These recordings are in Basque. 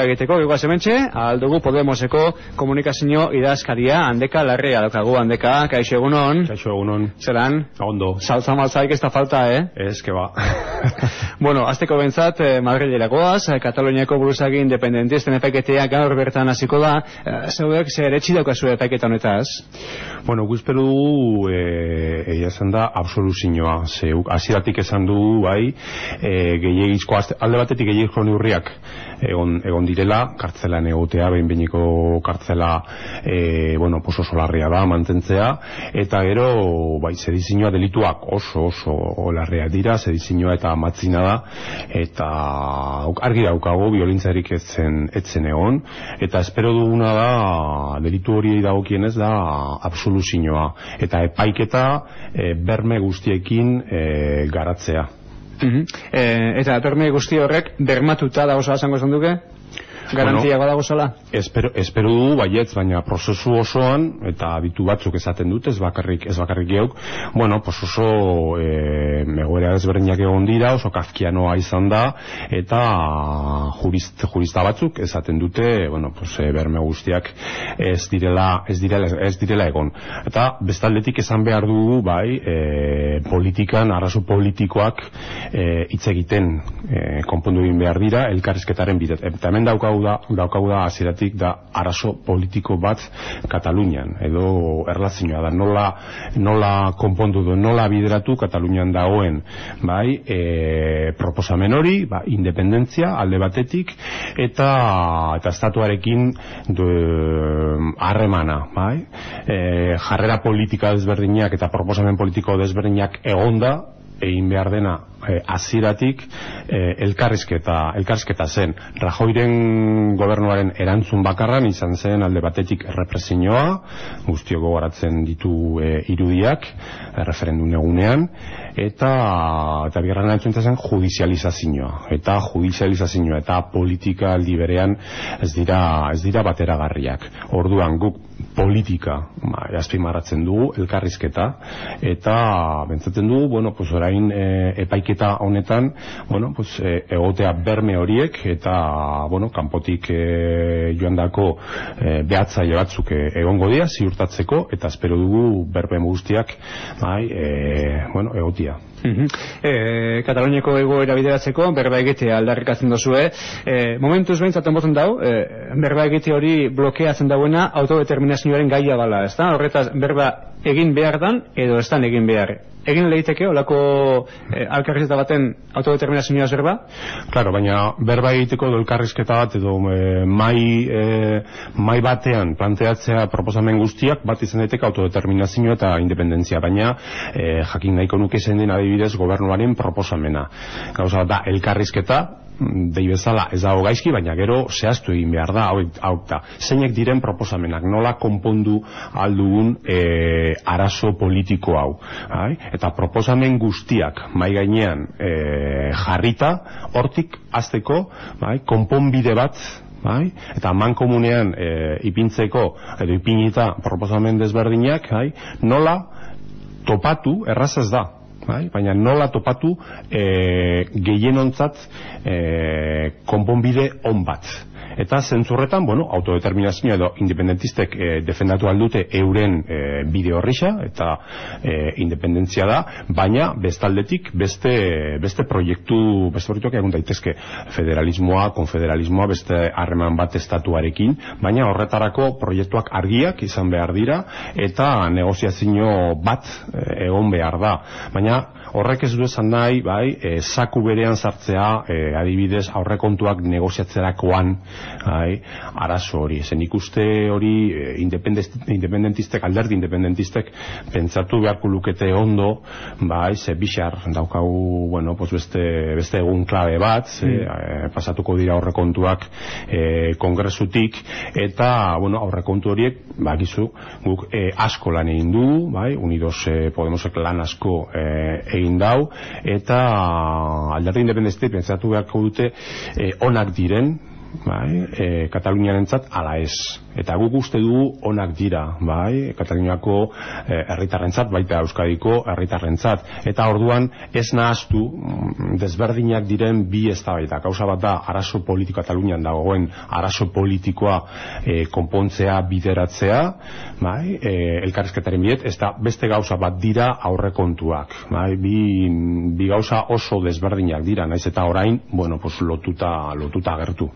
egiteko, gogoaz hementxe, aldugu Podemoseko komunikazio idazkaria, Handeka Larrea daukagu. Handeka, kaixo egunon. Kaixo egunon. Zeran? Ondo. Saltza maltzaik ez da falta, Ez, que ba. Bueno, azteko bentzat, Madrilera goaz, Kataloniako buruzagi independentisten epaiketea gaur bertan hasiko da. Zeuek zer etxi daukazu epaiketa honetaz? Bueno, guzperu dugu, egia esan da, absoluzioa. Zeuk, hasieratik esan du, bai, gehiagizko, alde batetik gehiagizko neurriak egon direla, kartzelan egotea, behin-behiniko kartzela, bueno, oso larria da, mantentzea, eta gero, bai, sedizioa delituak oso larria dira, sedizioa eta matzina da, eta argi daukago, violentziarik etzen egon, eta espero duguna da, delitu hori dagokienez da, absoluzioa, eta epaiketa berme guztiekin garatzea. Eta berme guzti horrek bermatuta dago zala zango esan duke? Garantia badago zala? Espero du, baietz, baina prozesu osoan, eta ditu batzuk esaten dut, ez bakarrik geuk, bueno, oso egoera ezberdinak egon dira, oso kafkianoa izan da, eta jurista batzuk esaten dute, bueno, berme guztiak ez direla egon. Eta bestaldetik esan behar dugu, bai, politikan, arrazo politikoak hitz egiten konpondu egin behar dira, elkarrizketaren bidez. Eta hemen daukagu da hasieratik da arazo politiko bat Katalunian, edo erlazioa da, nola konpondu du, nola bideratu Katalunian dagoen, bai, proposamen hori, independentzia alde batetik, eta estatuarekin harremana, bai, jarrera politika desberdinak eta proposamen politiko desberdinak egonda, egin behar dena hasieratik elkarrizketa zen. Rajoyren gobernuaren erantzun bakarran izan zen alde batetik represioa, guztiok gogoratzen ditu irudiak referendum egunean, eta bigarren erantzun zen judizializazioa, eta politika aldi berean ez dira bateragarriak. Orduan guk politika azpimarratzen dugu, elkarrizketa, eta bentsatzen dugu, bueno, orain epaiketa honetan, bueno, egotea berme horiek, eta, bueno, kanpotik joandako behatzaile batzuk egongo dira, ziurtatzeko, eta espero dugu berme guztiak, bueno, egotia. Kataloniako egoera bideratzeko berba egitea aldarrikatzen dozue, momentuz behintzat enboten dau, berba egite hori blokeatzen dauena autodeterminazioaren gaia bala, ez da? Horretaz, berba egin behar dan edo ez dan egin behar. Egin lehiteke, olako elkarrizketa baten autodeterminazioa zerba? Claro, baina berba egiteko edo elkarrizketa bat edo mai batean planteatzea proposamen guztiak bat izan daiteke autodeterminazioa eta independentzia, baina jakin nahiko nuke zen den adibidez gobernuaren proposamena. Gauza da elkarrizketa, dei bezala ez dago gaizki, baina gero zehaztu egin behar da, hau da, zeinek diren proposamenak, nola konpondu aldugun arazo politiko hau, eta proposamen guztiak mai gainean jarrita, hortik hasteko konponbide bat, eta mankomunean ipintzeko edo ipinita proposamen desberdinak, nola topatu, errazaz da, baina nola topatu gehienontzat konponbide on bat. Eta zentzurretan, bueno, autodeterminazioa edo independentistek defendatu aldute euren bide horrisa, eta independentzia da, baina bestaldetik beste proiektuak egun daitezke, federalismoa, konfederalismoa, beste harreman bat estatuarekin, baina horretarako proiektuak argiak izan behar dira, eta negoziazio bat egon behar da. Baina horrek ez du esan nahi, zaku berean sartzea, adibidez, aurrekontuak negoziatzerakoan, arazo hori. Zen ikuste hori independentistek, alderdi independentistek pentsatu beharko lukete ondo, ze bixar daukagu, bueno, beste egun klabe bat, pasatuko dira aurrekontuak kongresutik, eta, bueno, aurrekontu horiek, bakizu, guk asko lan egin du, Unidos Podemosek lan asko egin dau, eta alderdi independentistek pentsatu beharko dute onak diren, bai, Kataluniarentzat ala ez. Eta guk uste dugu onak dira, bai, Kataluniako herritarrentzat, baita Euskadiko herritarrentzat. Eta orduan ez nahaztu desberdinak diren bi eztabaida. Gauza bat da arazo politiko Katalunian dagoen arazo politikoa konpontzea, bideratzea, bai, elkarrizketaren bidez, ez da beste gauza bat dira aurrekontuak, bai, bi gauza oso desberdinak dira, naiz eta orain, bueno, pues lotuta agertu.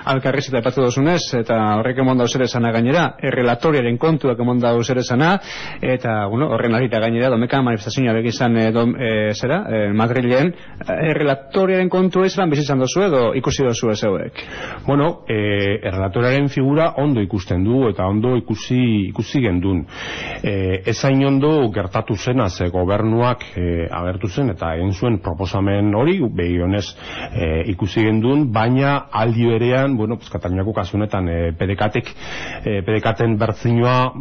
Alkarrizketa aipatu duzunez, eta horrek emon dauz ere esana gainera, errelatoriaren kontuak emon dauz ere esana, eta, bueno, horren arita gainera, domeka manifestazioa begizan Madrilen, errelatoriaren kontu izan bizitzan dozu edo ikusi dozu ez hauek? Bueno, errelatoriaren figura ondo ikusten du, eta ondo ikusi gendun. Ezain ondo gertatu zena, ze gobernuak agertu zen, eta egin zuen proposamen hori, begionez ikusi gendun, baina aldi berean, bueno, pues Kataluniako kasunetan PDK-ten bertzinoa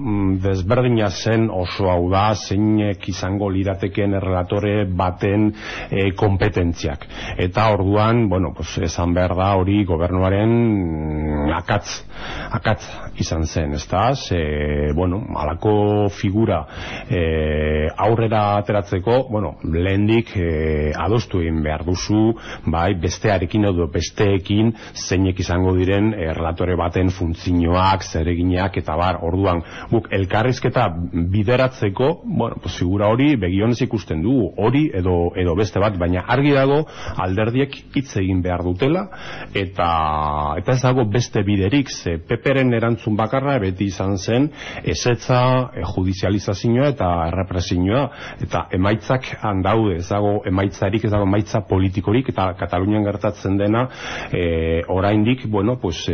desberdina zen oso hau da, zeinek izango lirateken errelatore baten kompetentziak. Eta orduan, bueno, pues esan behar da hori gobernuaren akatz izan zen, ezta? Bueno, halako figura aurrera ateratzeko, bueno, lehendik adostu egin behar duzu, bai, bestearekin edo besteekin zeinek izango diren errelatore baten funtzioak, zereginak eta bar, orduan guk elkarrizketa bideratzeko, bueno, pues figura hori begionez ikusten du, hori edo beste bat, baina argi dago alderdiek hitz egin behar dutela, eta ez dago beste biderik, ze PPren erantzun bakarra beti izan zen ezetza, judizializazioa eta errepresioa, eta emaitzak handaude, ez dago emaitzarik, ez dago emaitza politikorik, eta Katalunian gertatzen dena oraindik, bueno, pues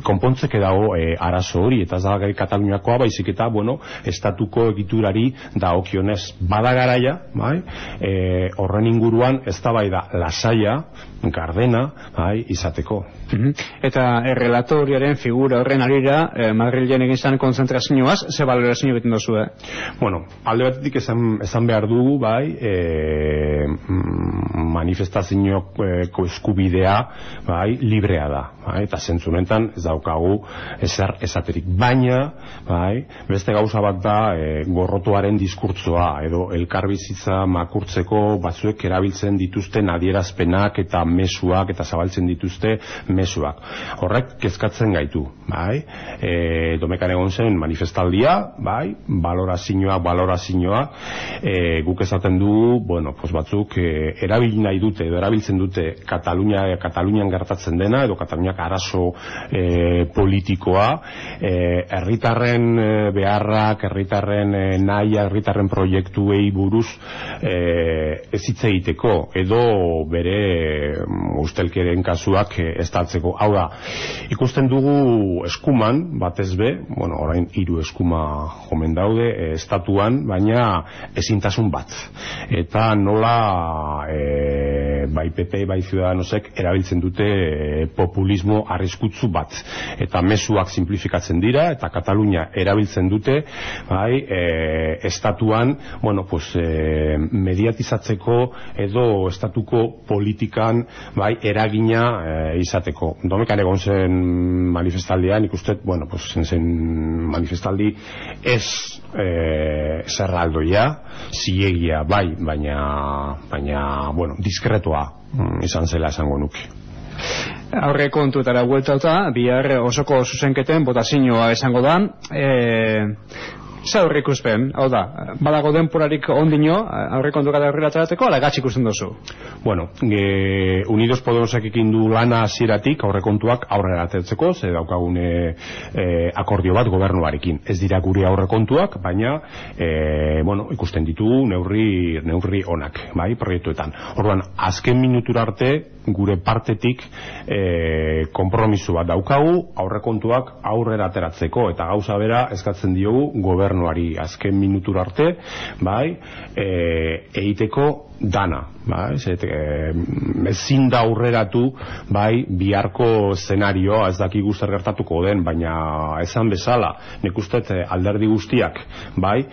konpontzeke dago arazo hori, eta ez da Kataluniakoa, baizik eta, bueno, estatuko egiturari dagokionez bada garaia, bai, horren inguruan eztabaida lasaia, gardena, bai, izateko. Eta errelatoriaren figura horren arira, Madrilen egin zan konzentrazioaz, ze balorazio egiten dozu, Bueno, alde batetik esan behar dugu, bai, manifestazioko eskubidea, bai, librea da, bai, eta zentzunetan ez daukagu ezer esaterik. Baina, bai, beste gauza bat da gorrotoaren diskurtsoa, edo elkarbizitza makurtzeko batzuek erabiltzen dituzten adierazpenak eta mezuak, eta zabaltzen dituzte mezuak. Horrek kezkatzen gaitu, bai, Domekan egon zen manifestaldia, bai, balorazioa, guk esaten du, bueno, pues batzuk erabili nahi dute, edo erabiltzen dute Katalunian gertatzen dena, edo Kataluniak arazo politikoa, herritarren beharrak, herritarren nahiak, herritarren proiektuei buruz ez hitz egiteko, edo bere ustelkeren kasuak estaltzeko. Hau da, ikusten dugu eskuman, batez be, bueno, orain 3 eskuma jomen daude, estatuan, baina ezintasun bat. Eta nola bai PP, bai Ciudadanosek erabiltzen dute populismo arriskutsu bat. Eta mezuak simplifikatzen dira, eta Katalunia erabiltzen dute, bai, estatuan, bueno, pues, mediatizatzeko edo estatuko politikan, bai, eragina izateko. Domekan egon zen manifestaldian, ikusten, bueno, pues, zen manifestaldi ez zerraldoia, zilegia, bai, baina, bueno, diskretoa izan zela esango nuke. Aurre kontutara bueltauta, bihar osoko zuzenketen botazioa esango da. Zaurri ikuspen, hau da, badago denporarik ondino, aurre kontuka da horrela txarateko, ala gatz ikusten duzu? Bueno, Unidos Podemosek ekin du lana hasieratik aurre kontuak aurrera atertzeko, ze daukagune akordio bat gobernuarekin. Ez dira gure aurre kontuak, baina, bueno, ikusten ditugu neurri onak, bai, proiektuetan. Orduan, azken minutura arte, gure partetik konpromiso bat daukagu, aurre kontuak aurrera ateratzeko, eta gauza bera eskatzen diogu gobernuari azken minutura arte, bai, egiteko dana, bai, ezin da aurreratu, bai, biharko szenarioa, ez dakigu zer gertatuko den, baina esan bezala, nik uste alderdi guztiak, bai,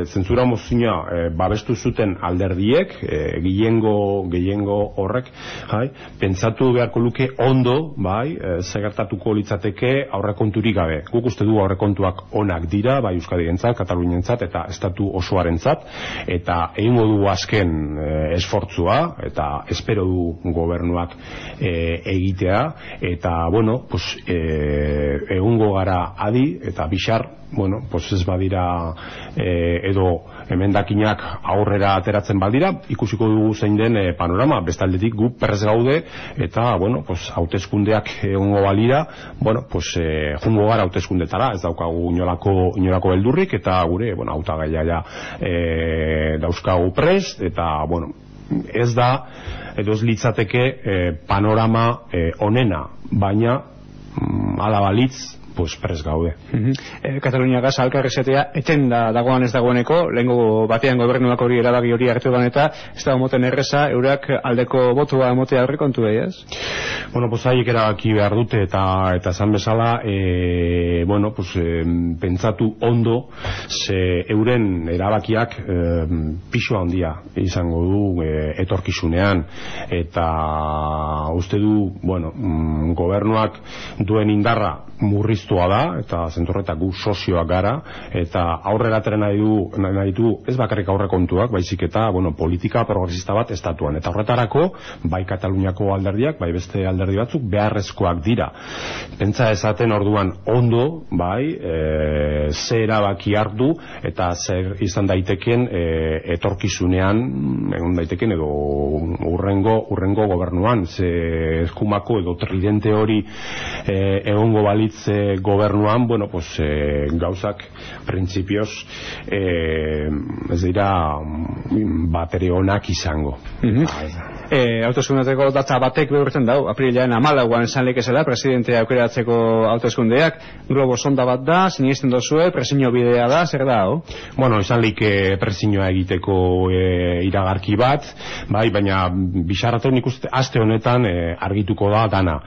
zentzura mozioa babestu zuten alderdiek, gehiengo horrek, bai, pentsatu beharko luke ondo, bai, zer gertatuko litzateke aurrekonturik gabe. Guk uste du aurrekontuak onak dira, bai, Euskadirentzat, Katalunientzat eta estatu osoarentzat, eta egingo du azken esfortzua, eta espero du gobernuak egitea, eta, bueno, pues, egungo gara adi, eta bixar, bueno, pues ez badira edo emendakinak aurrera ateratzen baldira, ikusiko dugu zein den panorama, bestaldetik gu perrez gaude, eta, bueno, pues, hauteskundeak egongo balira, bueno, pues, jungo gara hauteskundetara, ez daukagu inolako beldurrik, eta gure, bueno, hautagaia dauzkagu prest, eta, bueno, ez da, edo ez litzateke panorama onena, baina ala balitz, pues prest gaude. Katalunia Gas alkarrezetea etenda dagoan ez dagoeneko, lehengo batean gobernuak hori erabaki hori hartu ban eta ez da moten erreza, eurak aldeko botua emotea aurrekontu ez? Bueno, pues haiek erabaki behar dute eta esan bezala, bueno, pues pentsatu ondo, ze euren erabakiak pisu handia izango du etorkizunean, eta uste du, bueno, gobernuak duen indarra murriztua da, eta zentorretak gu sozioak gara, eta aurrera atera nahi du ez bakarrik aurrekontuak, baizik eta, bueno, politika progresista bat estatuan, eta horretarako, bai Kataluniako alderdiak, bai beste alderdi batzuk, beharrezkoak dira. Pentsa esaten orduan ondo, bai, ze erabaki hartu, eta zer izan daiteken etorkizunean, egon daiteken edo urrengo gobernuan, ze eskumako edo tridente hori egongo balitz gobernuan, bueno, pues gauzak printzipioz ez dira batere onak izango. Hauteskundeteko data batek behurtzen dau, aprilaren 14an esan lekezela presidentea aukeratzeko hauteskundeak, globo sonda bat da, sinesten dozue, presiño bidea da, zer da, hau? Bueno, esan leike presiñoa egiteko iragarki bat, bai, baina bixarraten ikuste aste honetan argituko da dana.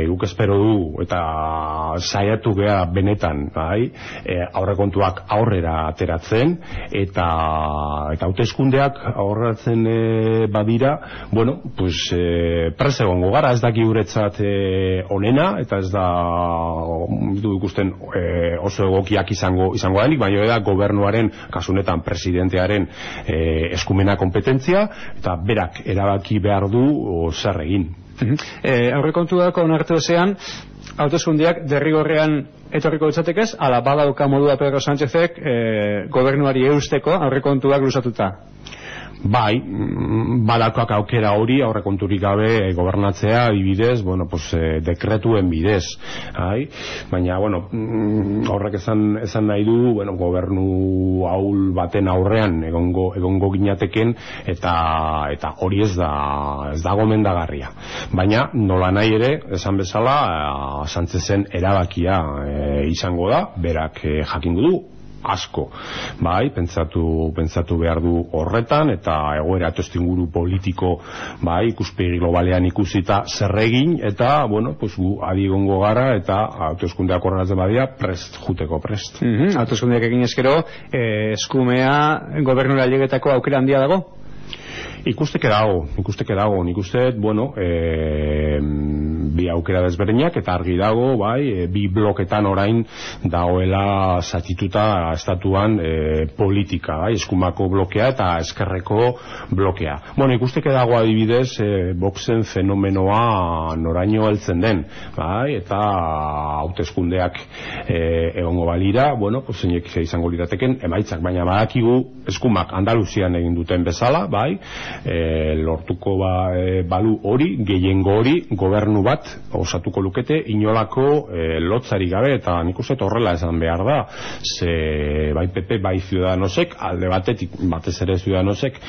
Guk espero du, eta saiatu gea benetan, bai, aurrekontuak aurrera ateratzen, eta hauteskundeak aurreratzen badira, bueno, pues prest egongo gara, ez daki guretzat onena, eta ez da du ikusten oso egokiak izango denik, baina da gobernuaren, kasunetan presidentearen eskumena kompetentzia, eta berak erabaki behar du zer egin. Aurrekontuak onartu ezean, hauteskundeak derrigorrean etorriko ditzatekez, ala badauka modua Pedro Sánchezek gobernuari eusteko aurrekontuak luzatuta? Bai, badakoak aukera hori aurrekonturik gabe gobernatzea adibidez, bueno, pues dekretuen bidez, baina, bueno, horrek esan nahi du, bueno, gobernu ahul baten aurrean egongo ginateken, eta hori ez da gomendagarria. Baina, nola nahi ere, esan bezala, Sánchezen erabakia izango da, berak jakingo du, asko, bai, pentsatu behar du horretan, eta egoera testuinguru politiko, bai, ikuspegi globalean ikusita zer egin, eta, bueno, pues gu adi egongo gara, eta hauteskundeak horretzen badia juteko prest. Hauteskundeak egin ezkero, eskumea gobernura ailegetako aukera handia dago? Ikusteke dago, nik uste, bueno, bi aukera desberdinak, eta argi dago, bai, bi bloketan orain dagoela zatituta estatuan politika, bai, eskumako blokea eta eskerreko blokea. Bueno, ikusteke dago adibidez, boxen fenomenoa noraino heltzen den, bai, eta hauteskundeak egongo balira, bueno, pues zeinek izango lirateken emaitzak, baina badakigu eskumak Andaluzian egin duten bezala, bai, lortuko balu hori, gehiengo hori, gobernu bat osatuko lukete inolako lotzari gabe, eta nik uste horrela esan behar da, ze bai PP, bai Ciudadanosek, alde batetik, batez ere Ciudadanosek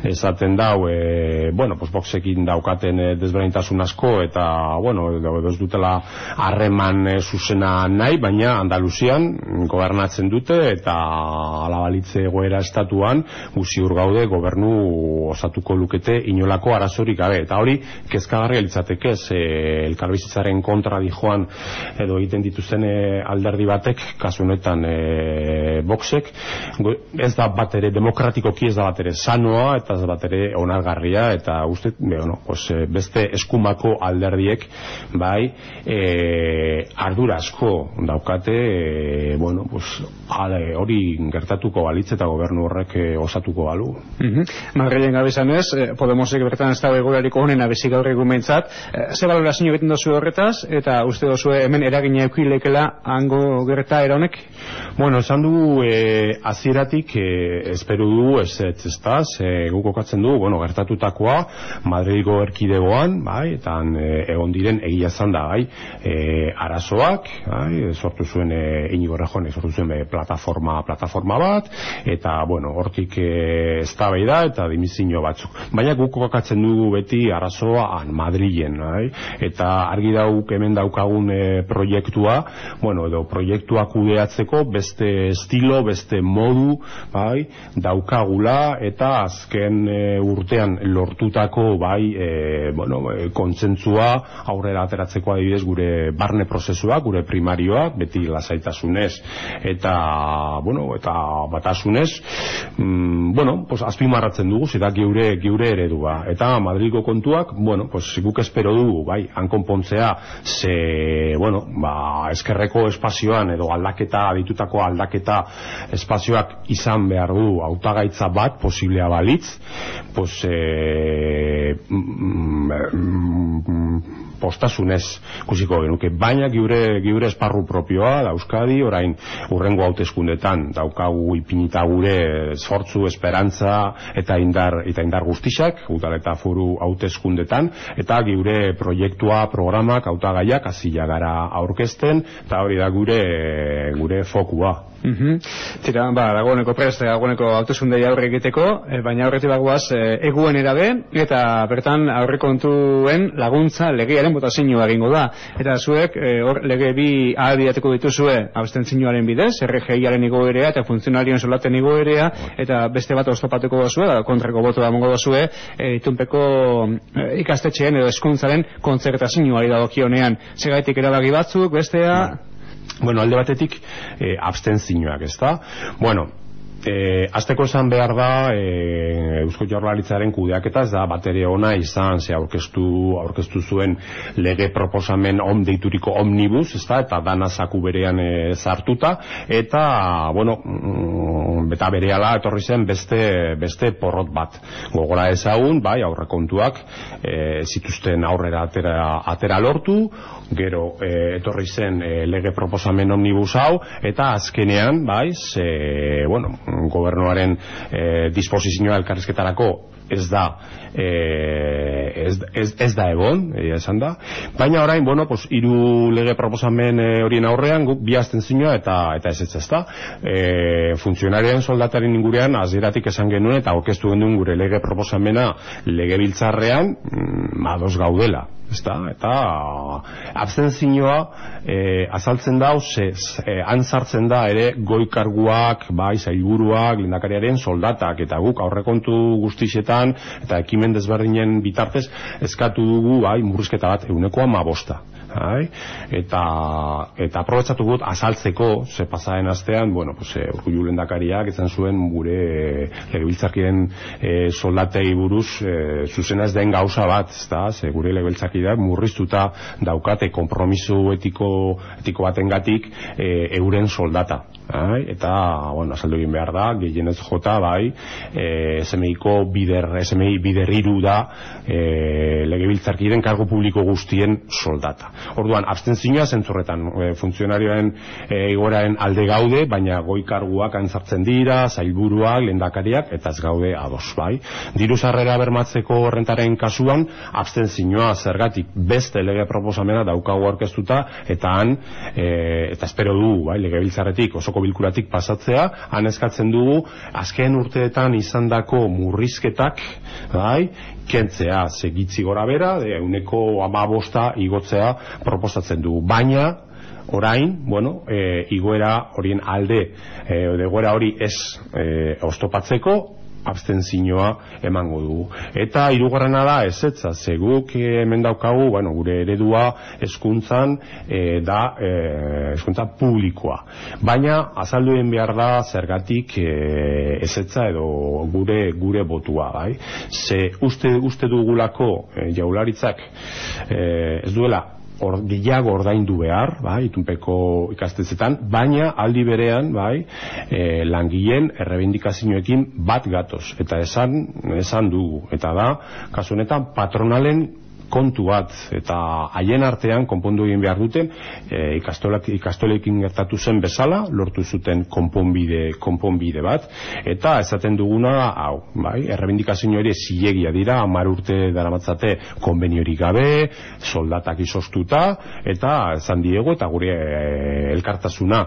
esaten dau, bueno, pues boxekin daukaten desberdintasun asko, eta, bueno, ez dutela harreman zuzena nahi, baina Andaluzian gobernatzen dute, eta alabalitze egoera estatuan, ziur gaude gobernu osatu osatuko lukete inolako arazorik gabe, eta hori kezkagarria litzateke, elkarbizitzaren kontra dijoan edo egiten dituzten alderdi batek, kasu honetan Voxek, ez da bat ere demokratikoki, ez da bat ere sanoa, eta ez da bat ere onargarria, eta uste, beste eskumako alderdiek bai ardura asko daukate, hori gertatuko balitz eta gobernu horrek osatuko balu. Madrilen gabe izanez, Podemosek bertan ez dago egoerariko honen abezik gaur egun behintzat, ze balorazio egiten dozu horretaz, eta uste dozu hemen eragina eukilekela hango gertaera honek? Esan du hasieratik espero du ez guk kokatzen du, gertatutakoa Madrilgo erkidegoan, bai, eta egon diren egia zan da, bai, arazoak, bai, sortu zuen Iñigo Errejonek sortu zuen plataforma bat, eta, hortik eztabaida eta dimizio batzuk. Baina guk kokatzen dugu beti arazoa Madrilen, bai, eta argi dauk hemen daukagun proiektua, edo proiektua kudeatzeko beste estilo, beste modu, bai, daukagula, eta azken urtean lortutako, bai, kontsentzua aurrera ateratzeko adibidez gure barne prozesua, gure primarioa, beti lasaitasunez, eta batasunez, azpimarratzen dugu, zera geure eredua. Eta Madrilgo kontuak, guk espero dugu, bai, hankonpontzea, eskerreko espazioan, edo ditutako aldaketa espazioak izan behar du hautagaitza bat, posiblea balitz, postasunez kusiko genuke, baina geure esparru propioa da Euskadi, orain urrengo hauteskundetan daukagu ipinita gure esfortzu, esperantza eta indar guztiak, udal eta foru hauteskundetan, eta geure proiektua, programak, hautagaiak hasila gara aurkezten, eta hori da gure fokua. Tira, dagoeneko prest, dagoeneko hauteskundei aurre egiteko, baina aurretik bagoaz eguen erabe, eta bertan aurrekontuen laguntza legearen botazioa egingo da. Eta zuek lege bi ahalbidetuko dituzue abstentzioaren bidez, RGIaren igoerea eta funtzionarioen solaten igoerea, eta beste bat oztopatuko dozue, kontrako botoa emango dozue, itunpeko ikastetxeen edo hezkuntzaren kontzertazioari dagokionean. Segaitik erabaki batzuk, bestea... Alde batetik abstentzioak, ezta? Azteko esan behar da Eusko Jaurlaritzaren kudeaketa ez da batere ona izan, ze aurkeztu zuen lege proposamen deituriko omnibus, eta dana zaku berean sartuta, eta beta berehala etorri zen beste porrot bat. Gogora ezagun, bai, aurrekontuak zituzten aurrera atera lortu, gero etorri zen lege proposamen omnibus hau, eta azkenean, bai, gobernuaren disposizioa elkarrizketarako ez da egon, esan da, baina orain, hiru lege proposamen horien aurrean guk bi abstentzioa eta ez da. Funtzionarioen soldataren ingurean hasieratik esan genuen eta aurkeztu genuen gure lege proposamena legebiltzarrean ados gaudela. Eta abstentzioa azaltzen da, han sartzen da ere goi karguak, bai, sailburuak, lehendakariaren soldatak, eta guk aurrekontu guztixetan eta ekimen desberdinen bitartez eskatu dugu, bai, murrizketa bat 15%. Eta aprobetxatu gut azaltzeko, ze pasaren astean, Urkullu lehendakariak esan zuen gure legebiltzarkien soldatei buruz zuzena ez den gauza bat, ze gure legebiltzarkideak murriztuta daukate kompromiso etiko batengatik euren soldata. Eta, azaldu egin behar da, gehienez jota, bai, SMI bider hiru da legebiltzarkiden kargo publiko guztien soldata. Orduan, abstentzioa zentzurretan funtzionarioen igoeraren alde gaude, baina goi karguak antzartzen dira, zailburuak, lehendakariak, eta ez gaude ados, bai. Diru sarrera bermatzeko rentaren kasuan, abstentzioa zergatik beste lege proposamena daukagu aurkeztuta, eta han, eta espero du, bai, legebiltzarretik osoko bilkuratik pasatzea, han eskatzen dugu azken urteetan izandako murrizketak, bai, kentzea, segitzi gora bera, 15% igotzea proposatzen dugu, baina orain, igoera horien alde, egoera hori ez oztopatzeko, abstentzioa emango dugu. Eta hirugarrena da ezetza, ze guk hemen daukagu, bueno, gure eredua hezkuntzan da hezkuntza publikoa. Baina azaldu egin behar da zergatik ezetza edo gure botua, bai? Ze uste dugulako Jaurlaritzak ez duela gehiago ordaindu behar, bai, itunpeko ikastetxetan, baina aldi berean, bai, langileen errebindikazioekin bat gatoz, eta esan dugu, eta da, kasu honetan, patronalen kontu bat, eta haien artean konpondu egin behar duten ikastolekin gertatu zen bezala, lortu zuten konponbide bat, eta esaten duguna hau, bai, errebindikazio hori zilegia dira, 10 urte daramatzate konbeniorik gabe, soldatak izoztuta, eta esan diegu, eta gure elkartasuna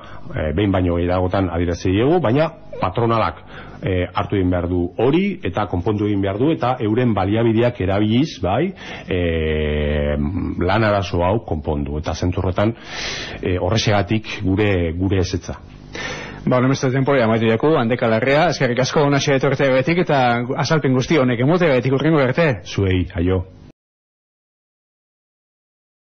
behin baino gehiagotan adierazi diegu, baina patronalak hartu egin behar du hori, eta konpondu egin behar du, eta euren baliabideak erabiliz, bai, lan arazo hau konpondu, eta zentzurretan horrexegatik gure ezetza. Ba, honemezte temporia amaitu jaku, Handeka Larrea, eskerrik asko ona xe etortea betik, eta azalpen guzti honek emote betik urrengo arte. Zuei, aio.